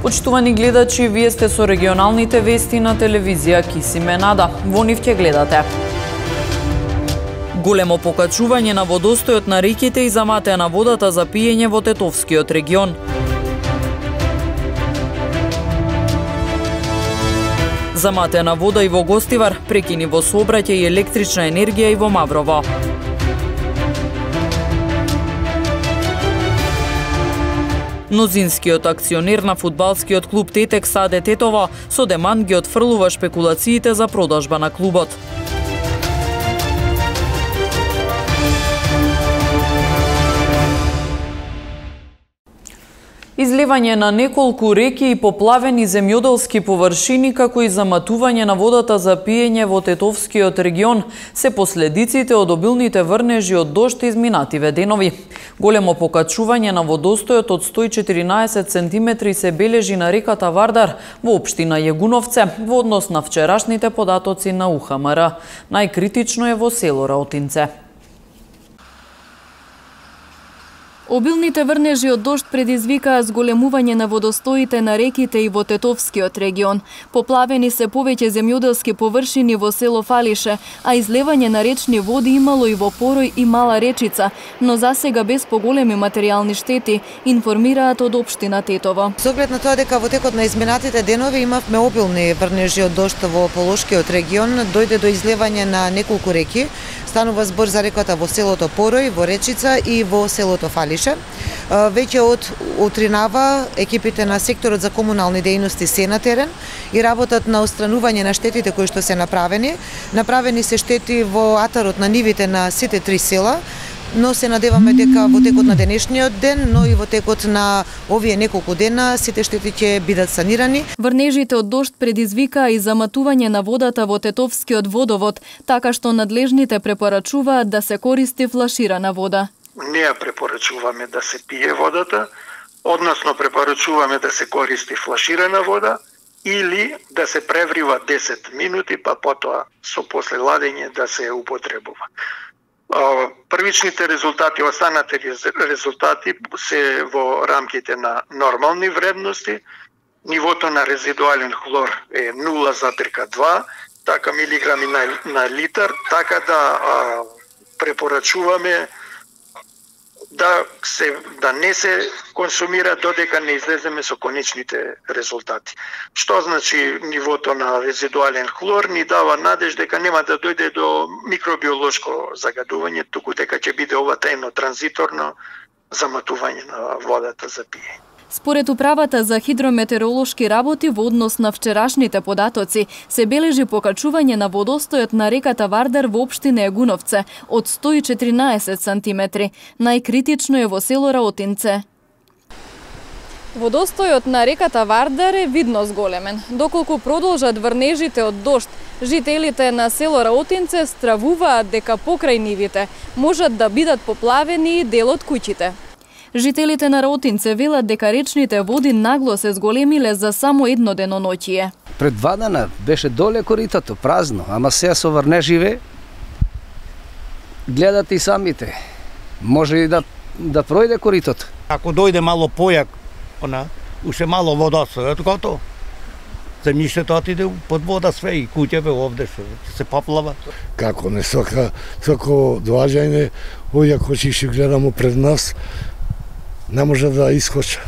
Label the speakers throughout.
Speaker 1: Почитувани гледачи, вие сте со регионалните вести на телевизија Кисиме Нада. Во нив ќе гледате: големо покачување на водостојот на реките и заматеа на водата за пиење во Тетовскиот регион. Заматена вода и во Гостивар, прекини во сообраќај и електрична енергија и во Маврово. Мнозинскиот акционер на фудбалскиот клуб Тетекс АД Тетово со демант ги отфрлува шпекулациите за продажба на клубот. Изливање на неколку реки и поплавени земјоделски површини, како и заматување на водата за пиење во Тетовскиот регион се последиците од обилните врнежи од дожд изминативе денови. Големо покачување на водостојот од 114 см се бележи на реката Вардар во општина Јегуновце во однос на вчерашните податоци на УХМР. Најкритично е во село Раотинце.
Speaker 2: Обилните врнежи од дожд предизвикаа зголемување на водостоите на реките и во Тетовскиот регион. Поплавени се повеќе земјоделски површини во село Фалише, а излевање на речни води имало и во Порој и Мала Речица, но засега без поголеми материјални штети, информираат од општина Тетово.
Speaker 3: Со оглед на тоа дека во текот на изминатите денови имавме обилни врнежи од дожд во Полошкиот регион, дојде до излевање на неколку реки. Станува збор за реката во селото Порој, во Речица и во селото Фалише. Веќе од утринава екипите на секторот за комунални дејности се на терен и работат на отстранување на штетите кои што се направени. Направени се штети во атарот на нивите на сите три села, но се надеваме дека во текот на денешниот ден, но и во текот на овие неколку дена сите штети ќе бидат санирани.
Speaker 2: Врнежите од дожд предизвикаа и заматување на водата во Тетовскиот водовод, така што надлежните препорачуваат да се користи флаширана вода.
Speaker 4: Не ја препорачуваме да се пие водата, односно препорачуваме да се користи флаширана вода или да се преврива 10 минути, па потоа со после ладење да се употребува. Првичните резултати, останатите резултати се во рамките на нормални вредности. Нивото на резидуален хлор е 0,2 така милиграми на литар, така да препорачуваме да не се консумира додека не излеземе со конечните резултати. Што значи нивото на резидуален хлор ни дава надеж дека нема да дојде до микробиолошко загадување, туку дека ќе биде ова тајно транзиторно заматување на водата за пиење.
Speaker 2: Според Управата за хидрометеоролошки работи во однос на вчерашните податоци, се бележи покачување на водостојот на реката Вардар во општина Јегуновце од 114 см. Најкритично е во село Раотинце. Водостојот на реката Вардар е видно зголемен. Доколку продолжат врнежите од дожд, жителите на село Раотинце стравуваат дека покрај нивите можат да бидат поплавени и дел од куќите. Жителите на Раотинце велат дека речните води нагло се зголемиле за само едно деноноќие.
Speaker 5: Пред 2 дена беше доле коритото, празно, ама сега со врнеживе гледате и самите. Може и да пројде коритото.
Speaker 6: Ако дојде мало појак, уште мало водостојот, готово. Земјиштето отиде под вода све и куќеве овде што се поплава.
Speaker 7: Како не сако доаѓање, овие ако ќе гледамо пред нас, не може да искоча.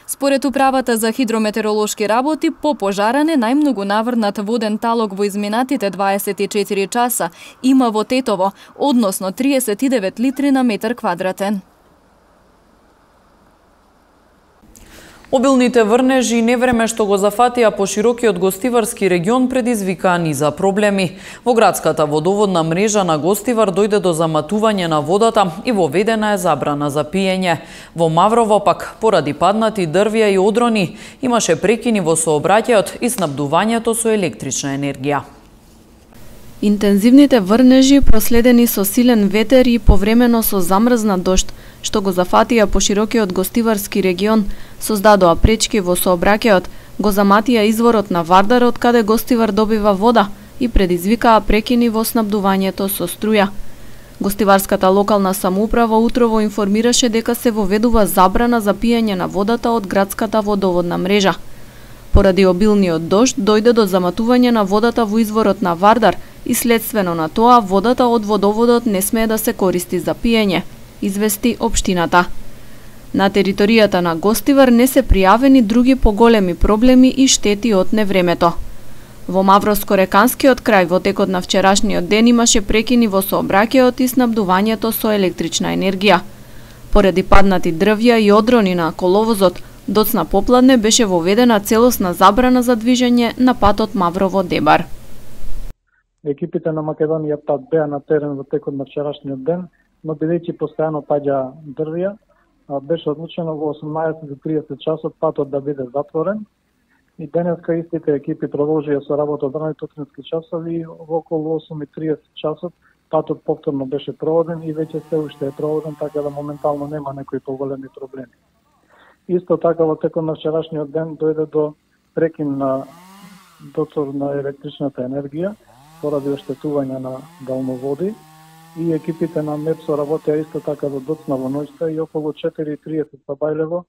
Speaker 2: Според Управата за хидрометеоролошки работи, по пожаране најмногу наврнат воден талог во изминатите 24 часа има во Тетово, односно 39 литри на метар квадратен.
Speaker 1: Обилните врнежи и невреме што го зафатија по широкиот Гостиварски регион предизвикаа низа проблеми. Во градската водоводна мрежа на Гостивар дојде до заматување на водата и воведена е забрана за пиење. Во Маврово пак, поради паднати дрвја и одрони, имаше прекини во сообраќајот и снабдувањето со електрична енергија.
Speaker 8: Интензивните врнежи, проследени со силен ветер и повремено со замрзнат дожд, што го зафатија по широкиот Гостиварски регион, создадоа пречки во сообраќајот, го заматија изворот на Вардар од каде Гостивар добива вода и предизвикаа прекини во снабдувањето со струја. Гостиварската локална самоуправа утрово информираше дека се воведува забрана за пиење на водата од градската водоводна мрежа. Поради обилниот дожд дојде до заматување на водата во изворот на Вардар и следствено на тоа водата од водоводот не смее да се користи за пиење, извести општината. На територијата на Гостивар не се пријавени други поголеми проблеми и штети од невремето. Во Мавроско-реканскиот крај во текот на вчерашниот ден имаше прекини во сообраќајот и снабдувањето со електрична енергија. Поради паднати дрвја и одрони на коловозот, доцна попладне беше воведена целосна забрана за движење на патот Маврово-Дебар.
Speaker 9: Екипите на Македонија ПАТ беа на терен во текот на вчерашниот ден, но бидејќи постојано паѓа дрвја, беше одлучено во 18:30 часот патот да биде затворен. И денеска истите екипи продолжија со работа од ранните утрински часови и во околу 8:30 часот патот повторно беше проводен и веќе се уште е проводен, така да моментално нема некои поголеми проблеми. Исто така во текот на вчерашниот ден дојде до прекин на доцор на електричната енергија поради оштетување на далноводи и екипите на МЕПСО работеа исто така до доцна во ноќта и околу 4:30 па Бајлево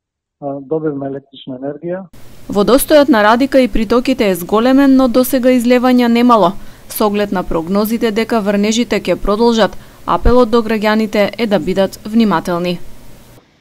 Speaker 9: добивме електрична енергија.
Speaker 8: Водостојот на Радика и притоките е зголемен, но досега излевања немало. Со оглед на прогнозите дека врнежите ќе продолжат, апелот до граѓаните е да бидат внимателни.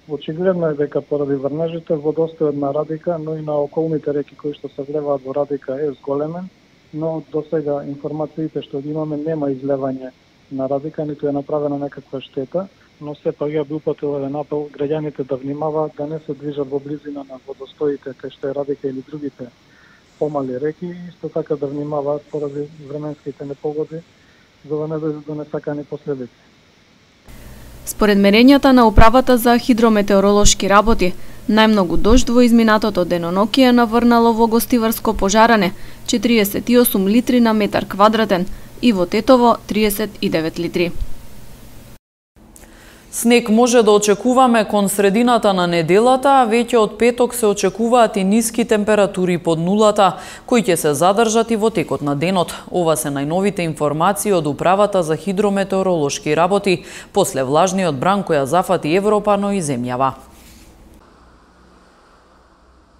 Speaker 9: Очигледно е дека поради врнежите водостојот на Радика, но и на околните реки кои што се влеваат во Радика е зголемен, но досега информациите што ги имаме нема излевање на Радика, ниту е направена некаква штета, но сепак ја би упатил еден апел граѓаните да внимаваат да не се движат во близина на водостоите кај што е Радика или другите помали реки и исто така да внимаваат поради временските непогоди за да не дојде до несакани последици.
Speaker 8: Според мерењата на Управата за хидрометеоролошки работи, најмногу дожд во изминатото денонокие е наврнало во Гостиварско пожаране 48 литри на метар квадратен и во Тетово 39 литри.
Speaker 1: Снег може да очекуваме кон средината на неделата, а веќе од петок се очекуваат и ниски температури под нулата, кои ќе се задржат и во текот на денот. Ова се најновите информации од Управата за хидрометеоролошки работи после влажниот бран која зафати Европа, но и земјава.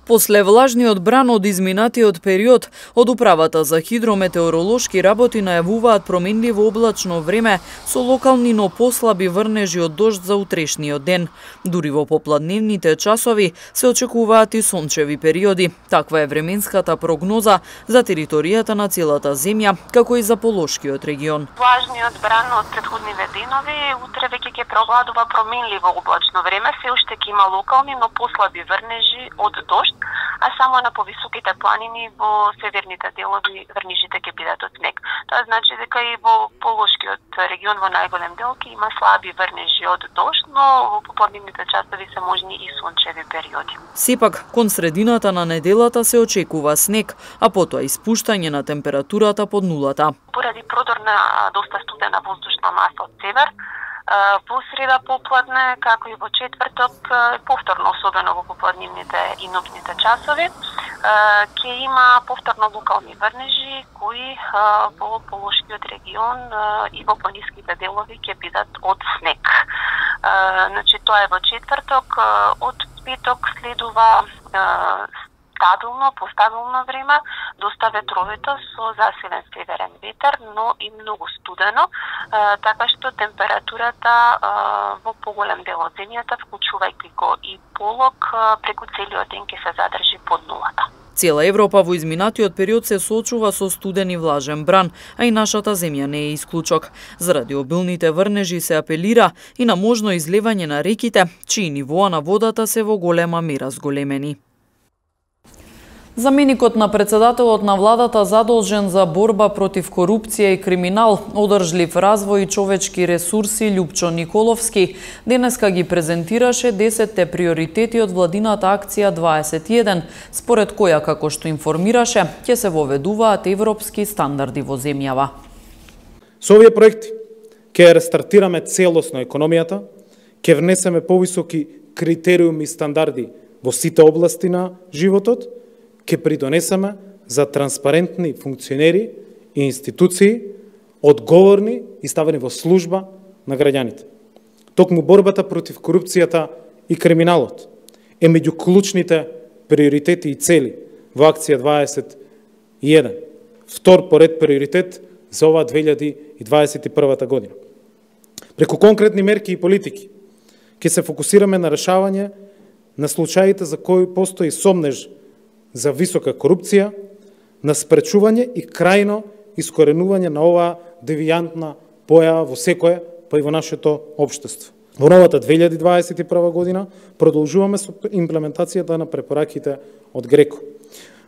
Speaker 1: После влажниот бран од изминатиот период, од Управата за хидрометеоролошки работи најавуваат променливо облачно време со локални но послаби врнежи од дожд за утрешниот ден. Дури во попладневните часови се очекуваат и сончеви периоди. Таква е временската прогноза за територијата на целата земја, како и за Полошкиот регион.
Speaker 10: Влажниот бран од претходниве денови утре веќе ќе преовладува променливо облачно време, се уште ќе има локални но послаби врнежи од дожд, а само на повисоките планини во северните делови врнежите ќе бидат од снег. Тоа значи дека и во Полошкиот регион во најголем дел ќе има слаби врнежи од дожд, но во попладневните часови се можни и сончеви периоди.
Speaker 1: Сепак, кон средината на неделата се очекува снег, а потоа испуштање на температурата под нулата.
Speaker 10: Поради продор на доста студена воздушна маса од север, во среда попладне, како и во четврток, повторно, особено во попладнивните и ноќните часови, ќе има повторно локални врнежи кои во Полошкиот регион и во пониските делови ќе бидат од снег. Значи, тоа е во четврток, од петок следува постабилно време, доста ветровито со засилен северен ветер, но и многу студено, така што температурата во поголем дел од земјата, вклучувајќи го и полог, преку целиот ден ќе се задржи под нулата.
Speaker 1: Цела Европа во изминатиот период се соочува со студен и влажен бран, а и нашата земја не е исклучок. Заради обилните врнежи се апелира и на можно излевање на реките, чии нивоа на водата се во голема мера зголемени. Заменикот на председателот на владата задолжен за борба против корупција и криминал, одржлив развој и човечки ресурси Љупчо Николовски денеска ги презентираше 10 приоритети од владината акција 21, според која, како што информираше, ќе се воведуваат европски стандарди во земјава.
Speaker 11: Со овие проекти ќе рестартираме целосно економијата, ќе внесеме повисоки критериуми и стандарди во сите области на животот, ќе придонесеме за транспарентни функционери и институции, одговорни и ставени во служба на граѓаните. Токму борбата против корупцијата и криминалот е меѓу клучните приоритети и цели во акција 21. Втор поред приоритет за ова 2021 година. Преку конкретни мерки и политики ќе се фокусираме на решавање на случаите за кои постои сомнеж за висока корупција, на спречување и крајно искоренување на оваа девијантна појава во секое, па и во нашето општество. Во новата 2021 година продолжуваме со имплементацијата на препораките од ГРЕКО.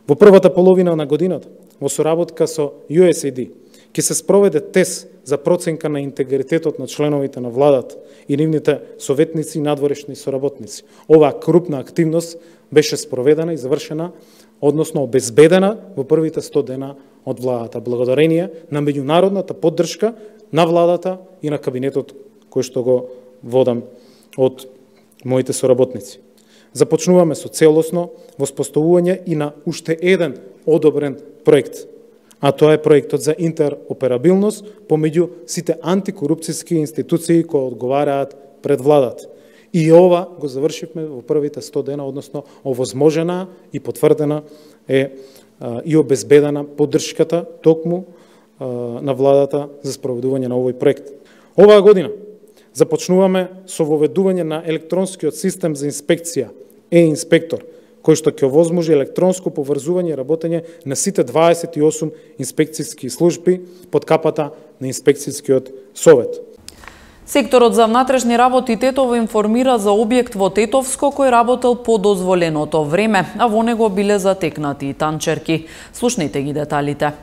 Speaker 11: Во првата половина на годината, во соработка со USAID, ќе се спроведе тест за проценка на интегритетот на членовите на владата и нивните советници и надворешни соработници. Оваа крупна активност беше спроведена и завршена, односно обезбедена во првите 100 дена од владата, благодарение на меѓународната поддршка на владата и на кабинетот кој што го водам од моите соработници. Започнуваме со целосно воспоставување и на уште еден одобрен проект, а тоа е проектот за интероперабилност помеѓу сите антикорупцијски институции кои одговараат пред владата. И ова го завршивме во првите 100 дена, односно овозможена и потврдена е и обезбедена поддршката токму на владата за спроведување на овој проект. Оваа година започнуваме со воведување на електронскиот систем за инспекција, е-инспектор, кој што ќе овозможи електронско поврзување и работење на сите 28 инспекцијски служби под капата на инспекцијскиот совет.
Speaker 1: Секторот за внатрешни работи Тетово информира за објект во Тетовско кој работел по дозволеното време, а во него биле затекнати и танчерки. Слушнете ги деталите.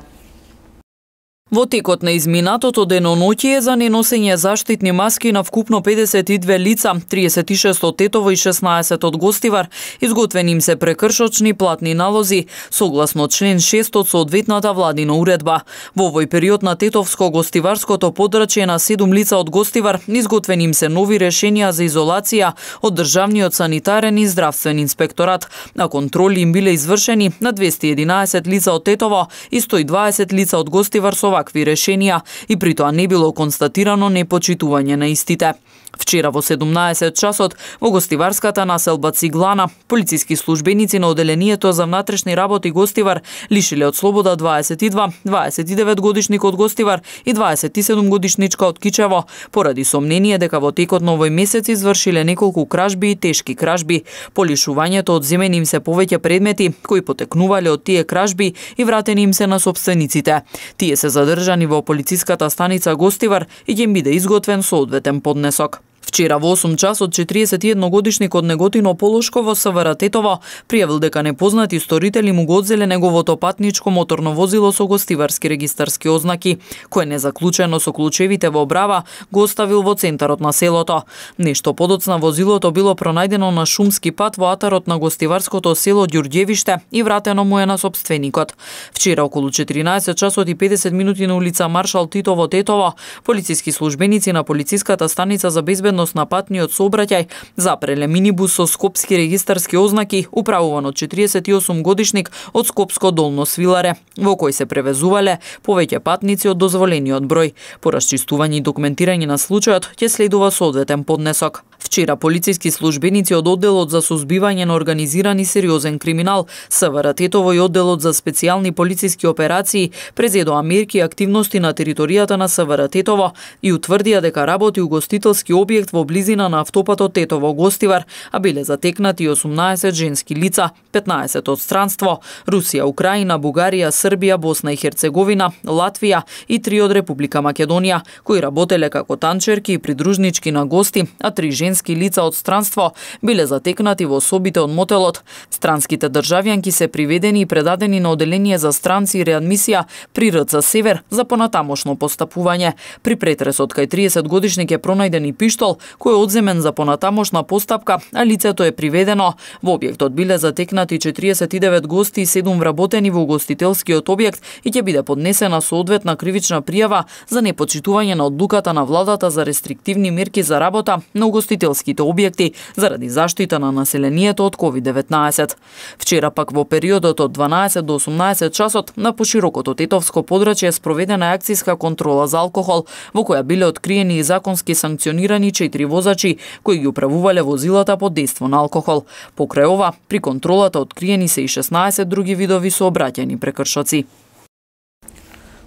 Speaker 1: Во текот на изминатото деноноќие за неносење заштитни маски на вкупно 52 лица, 36 од Тетово и 16 од Гостивар, изготвени им се прекршочни платни налози, согласно член 6 од соодветната владина уредба. Во овој период на Тетовско-Гостиварското подрачје на 7 лица од Гостивар, изготвени им се нови решенија за изолација од Државниот санитарен и здравствен инспекторат, а контроли им биле извршени на 211 лица од Тетово и 120 лица од Гостивар со вакви решенија и при тоа не било констатирано непочитување на истите. Вчера во 17 часот во гостиварската населба Циглана, полициски службеници на Оделението за внатрешни работи Гостивар лишиле од слобода 29 годишник од Гостивар и 27 годишничка од Кичево, поради сомнение дека во текот на овој месец извршиле неколку кражби и тешки кражби. По лишувањето одземени им се повеќе предмети кои потекнувале од тие кражби и вратени им се на сопствениците. Тие се задржани во полициската станица Гостивар и ќе им биде изготвен соодветен поднесок. Вчера во 8 часот 41 годишник од Неготино Полошко во СВР Тетово пријавил дека непознати сторители му го одзеле неговото патничко моторно возило со гостиварски регистарски ознаки, кое незаклучено со клучевите во брава го оставил во центарот на селото. Нешто подоцна возилото било пронајдено на шумски пат во атарот на гостиварското село Ѓурѓевиште и вратено му е на сопственикот. Вчера околу 14 часот и 50 минути на улица Маршал Тито во Тетово, полициски службеници на полициската станица за безбедност на патниот сообраќај запреле минибус со скопски регистарски ознаки, управуван од 48 годишник од Скопско Долно Свиларе, во кој се превезувале повеќе патници од дозволениот број. По расчистување и документирање на случајот ќе следува соодветен поднесок. Вчера полициски службеници од одделот за сузбивање на организиран и сериозен криминал, СВР Тетово и одделот за специјални полициски операции презедоа мерки и активности на територијата на СВР Тетово и утврдија дека работи угостителски објект во близина на автопатот Тетово-Гостивар, а биле затекнати 18 женски лица, 15 од странство, Русија, Украина, Бугарија, Србија, Босна и Херцеговина, Латвија и 3 од Република Македонија, кои работеле како танчерки и придружнички на гости, а 3 женски лица од странство биле затекнати во собите од мотелот. Странските државјанки се приведени и предадени на оделение за странци и реадмисија при РЦ Север за понатамошно постапување. При претресот кај 30 годишник е пронајден и пиштол кој е одземен за понатамошна постапка, а лицето е приведено. Во објектот биле затекнати 49 гости и 7 вработени во угостителскиот објект и ќе биде поднесена соодветна кривична пријава за непочитување на одлуката на владата за рестриктивни мерки за работа на угостителскиот угостителските објекти заради заштита на населението од COVID-19. Вчера пак во периодот од 12 до 18 часот на поширокото тетовско подрачје спроведена акцијска контрола за алкохол, во која биле откриени и законски санкционирани 4 возачи кои ги управувале возилата под дејство на алкохол. Покрај ова, при контролата откриени се и 16 други видови сообраќајни прекршоци.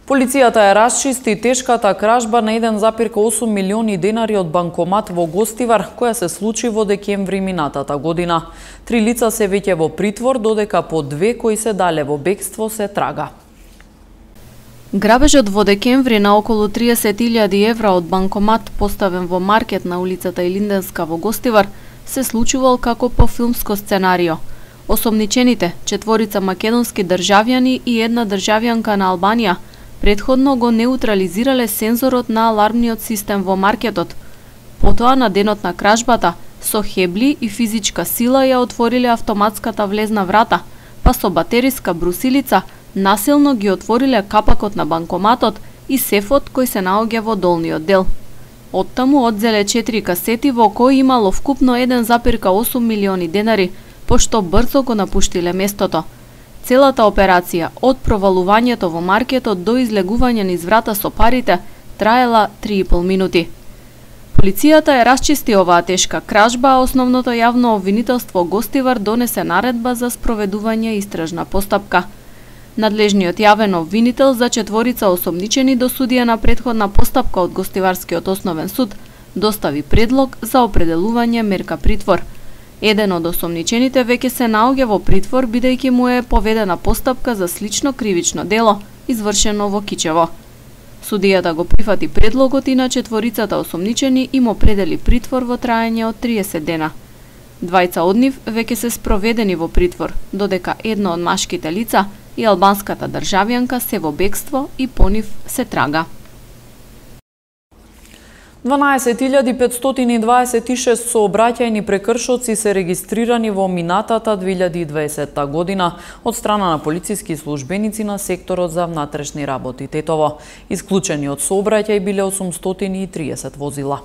Speaker 1: Полицијата ја расчисти тешката кражба на 1,8 милиони денари од банкомат во Гостивар, која се случи во декември минатата година. 3 лица се веќе во притвор, додека по 2 кои се дале во бегство се трага.
Speaker 8: Грабежот во декември на околу 30.000 евра од банкомат поставен во маркет на улицата Илинденска во Гостивар се случувал како по филмско сценарио. Осомничените, 4 македонски државјани и една државјанка на Албанија, предходно го неутрализирале сензорот на алармниот систем во маркетот. Потоа на денот на кражбата, со хебли и физичка сила ја отвориле автоматската влезна врата, па со батериска брусилица насилно ги отвориле капакот на банкоматот и сефот кој се наоѓа во долниот дел. Оттаму одзеле 4 касети во кои имало вкупно 1,8 милиони денари, пошто брзо го напуштиле местото. Целата операција, од провалувањето во маркетот до излегување низ врата со парите, траела 3,5 минути. Полицијата ја расчисти оваа тешка кражба, а основното јавно обвинителство Гостивар донесе наредба за спроведување истражна постапка. Надлежниот јавен обвинител за 4 осомничени до судија на претходна постапка од Гостиварскиот основен суд достави предлог за определување мерка притвор. Еден од осомничените веќе се наоѓа во притвор бидејќи му е поведена постапка за слично кривично дело, извршено во Кичево. Судијата го прифати предлогот и на 4 осомничени им определи притвор во траење од 30 дена. 2 од нив веќе се спроведени во притвор, додека едно од машките лица и албанската државјанка се во бегство и по нив се трага.
Speaker 1: 12.526 сообраќајни прекршоци се регистрирани во минатата 2020 година од страна на полициски службеници на секторот за внатрешни работи Тетово. Исклучени од сообраќај биле 830 возила.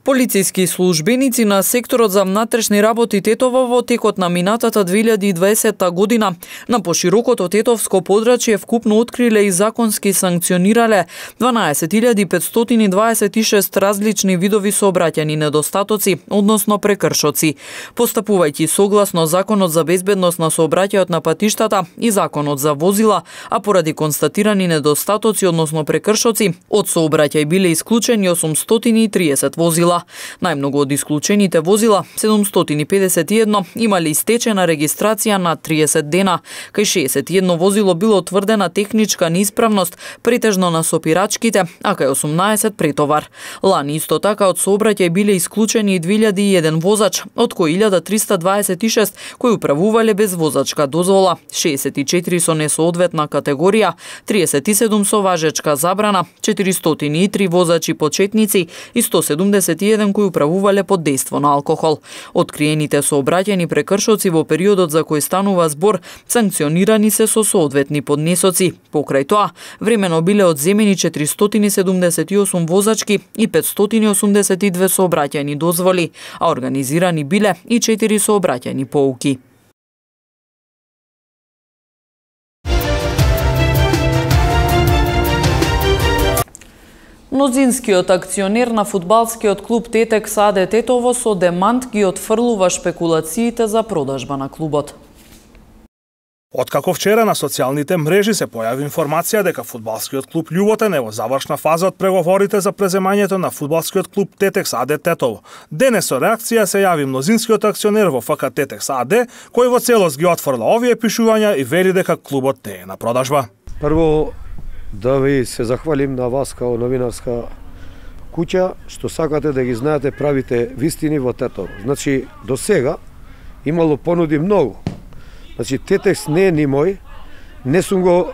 Speaker 1: Полициски службеници на секторот за внатрешни работи Тетово во текот на минатата 2020 година на поширокото тетовско подрачје вкупно откриле и законски санкционирале 12.526 различни видови сообраќајни недостатоци, односно прекршоци. Постапувајќи согласно Законот за безбедност на сообраќајот на патиштата и Законот за возила, а поради констатирани недостатоци, односно прекршоци, од сообраќај биле исклучени 830 возила. Најмногу од исклучените возила, 751, имали истечена регистрација на 30 дена, кај 61 возило било утврдена техничка неисправност, претежно на сопирачките, а кај 18 претовар. Лани исто така од сообраќај биле исклучени и 2001 возач, од кои 1326 кои управувале без возачка дозвола, 64 со несоодветна категорија, 37 со важечка забрана, 403 возачи почетници и 171 кои управувале под дејство на алкохол. Откриените сообраќајни прекршоци во периодот за кој станува збор санкционирани се со соодветни поднесоци. Покрај тоа, времено биле одземени 478 возачки и 582 сообраќајни дозволи, а организирани биле и 4 сообраќајни поуки. Мнозинскиот акционер на фудбалскиот клуб Тетекс АД Тетово со демант ги отфрлува шпекулациите за продажба на клубот.
Speaker 12: Откако вчера на социјалните мрежи се појави информација дека фудбалскиот клуб Љуботен е во завршна фаза од преговорите за преземањето на фудбалскиот клуб Тетекс АД Тетово, денес со реакција се јави мнозинскиот акционер во ФК Тетекс АД, кој во целост ги отфрла овие пишувања и вели дека клубот не е на продажба.
Speaker 13: Прво, да ви се захвалим на вас као новинарска куќа, што сакате да ги знаете правите вистини во Тетово. Значи, до сега имало понуди многу. Значи, Тетекс не е ни мој, не сум го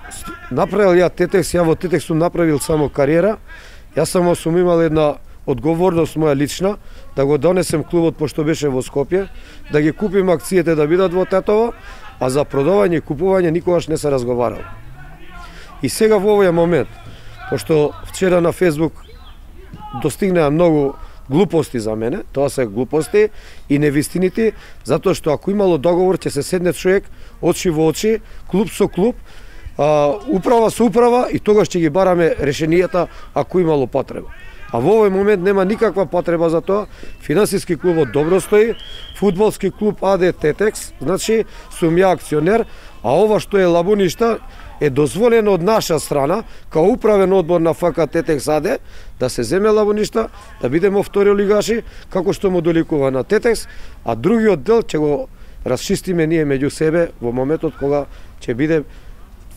Speaker 13: направил ја Тетекс, ја во Тетекс сум направил само кариера, јас само сум имал една одговорност моја лична, да го донесем клубот пошто беше во Скопје, да ги купим акциите да бидат во Тетово, а за продавање и купување никогаш не се разговарал. И сега во овој момент, пошто вчера на Фейсбук достигнаа многу глупости за мене, тоа се глупости и невистините, затоа што ако имало договор ќе се седне човек очи во очи, клуб со клуб, управа со управа и тогаш ќе ги бараме решенијата ако имало потреба. А во овој момент нема никаква потреба за тоа. Финансиски клубот добро стои, фудбалски клуб АД Тетекс, значи сум ја акционер, а ова што е Лабуништа е дозволено од наша страна, као управен одбор на ФК Тетекс АД, да се земе Лабуништа, да бидеме втори лигаши, како што му доликува на Тетекс, а другиот дел ќе го расчистиме ние меѓу себе во моментот кога ќе биде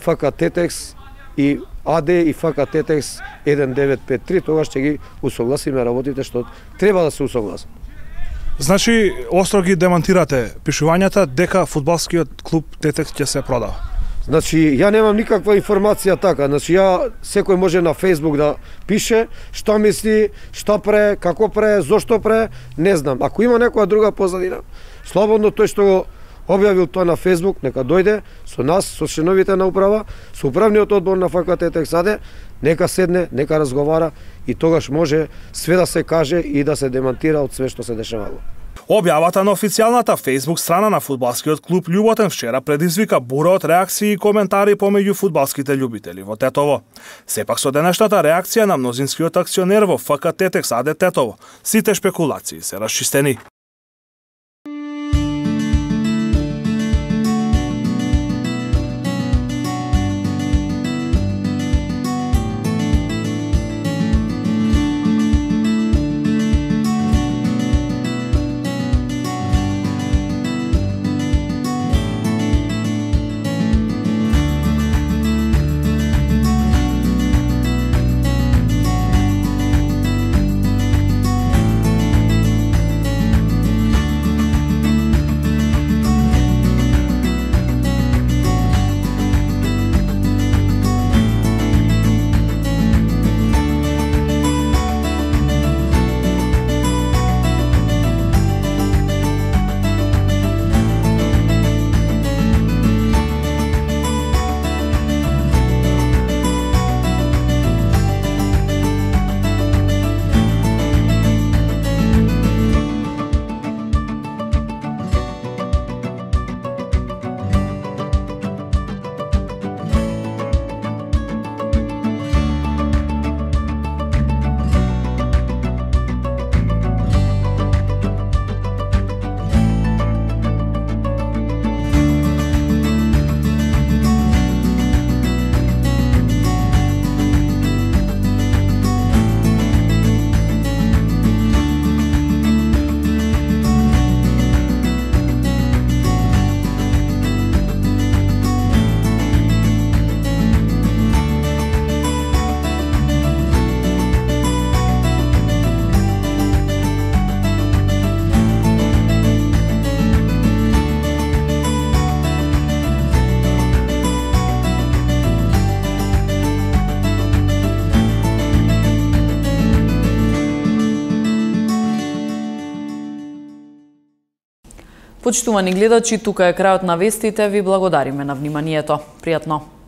Speaker 13: ФК Тетекс и АД и ФК Тетекс 1953, тогаш ќе ги усогласиме работите што треба да се усогласат.
Speaker 12: Значи, остро ги демантирате пишувањата дека фудбалскиот клуб Тетекс ќе се продава?
Speaker 13: Значи, ја немам никаква информација така. Значи, секој може на Facebook да пише што мисли, што пре, како пре, зошто пре, не знам. Ако има некоја друга позадина, слободно тој што го објавил тоа на Facebook, нека дојде со нас, со членовите на управа, со управниот одбор на ФК Тетекс АД, нека седне, нека разговара и тогаш може све да се каже и да се демантира од све што се дешавало.
Speaker 12: Објавата на официјалната Facebook страна на фудбалскиот клуб Љуботен вчера предизвика бура од реакции и коментари помеѓу фудбалските љубители во Тетово. Сепак со денешната реакција на мнозинскиот акционер во ФК Тетекс АД Тетово, сите шпекулации се расчистени.
Speaker 1: Почитувани гледачи, тука е крајот на вестите. Ви благодариме на вниманието. Пријатно!